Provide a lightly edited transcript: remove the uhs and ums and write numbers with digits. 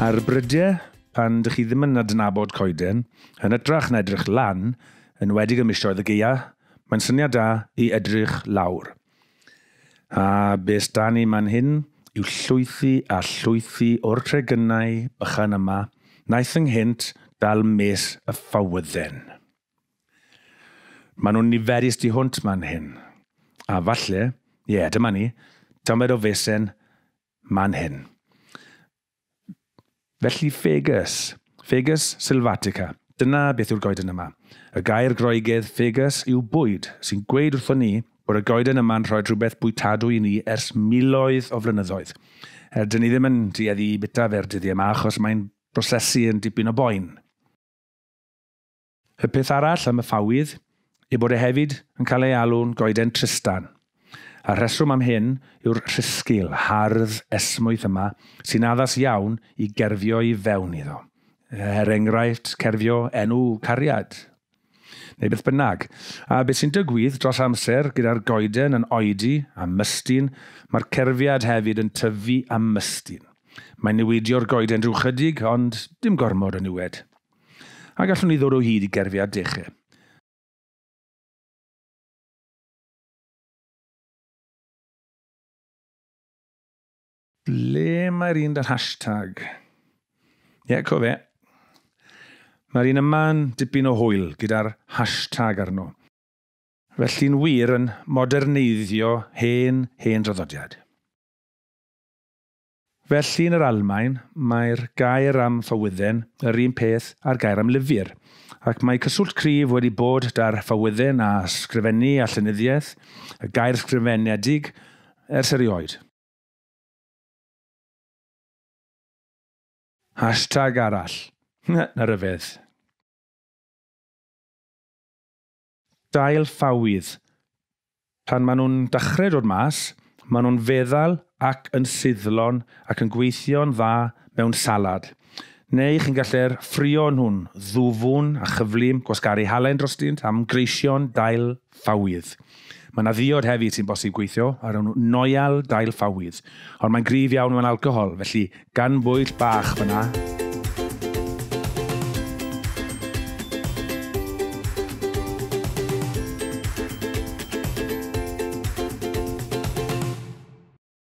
Ar brydiau, pan dych chi ddim yn adnabod coeden, yn hytrach na edrych lan, yn enwedig ym misoedd y gaea, mae'n syniad da i edrych lawr. A be s'da ni man hyn yw llwythi a llwythi o'r tregynnau bychan yma, wnaeth ynghynt dal mes y ffawydden. Maen nhw'n niferus tu hwnt man hyn. A falle, ie, dyma ni, tamed o fesen man hyn. Felly Fagus, Fagus sylvatica, dyna beth yw'r goeden yma. Y gair Groegaidd Fagus yw bwyd, sy'n gweud wrthon ni bod y goeden yma'n rhoi rhywbeth bwytadwy i ni ers miloedd o flynyddoedd. Er, dyn ni ddim yn tueddu i bita fe'r dyddiau yma achos mae'n prosesu yn dipyn o boen. Y peth arall am y ffawydd yw bod e hefyd yn cael ei alw'n goeden Tristan. A'r rheswm am hyn yw'r rhisgl hardd esmwyth yma sy'n addas iawn i gerfio i fewn iddo. Er enghraifft, cerfio enw cariad, neu beth bynnag. A beth sy'n digwydd dros amser gyda'r goeden yn oedi a mystyn, mae'r cerfiad hefyd yn tyfu a mystyn. Mae'n newidio'r goeden rhyw chydig, ond dim gormod o niwed. A gallwn ni ddod o hyd i gerfiad dechrau. Ble mae'r un da'r hashtag? Ie, co fe. Mae'r un yma'n dipyn o hwyl gyda'r hashtag arno. Felly'n wir yn moderneiddio hen, hen draddodiad. Felly yn yr Almaen, mae'r gair am ffawydden yr un peth â'r gair am lyfr, ac mae cyswllt cryf wedi bod da'r ffawydden a sgrifennu a llenyddiaeth, y gair sgrifenedig, ers erioed. Hashtag arall. Na ryfedd. Dail ffawydd. Pan maen nhw'n dechrau dod mas, maen nhw'n feddal ac yn suddlon ac yn gweithio'n dda mewn salad. Neu chi'n gallu'r ffrio nhw'n ddwfwn a chyflym, gwasgaru halen drostynt am greision dail ffawydd. Mae yna ddiod hefyd sy'n bosib gweithio ar enw Noel dail ffawydd, ond mae'n gryf iawn mewn alcohol, felly gan bwyll bach fyna.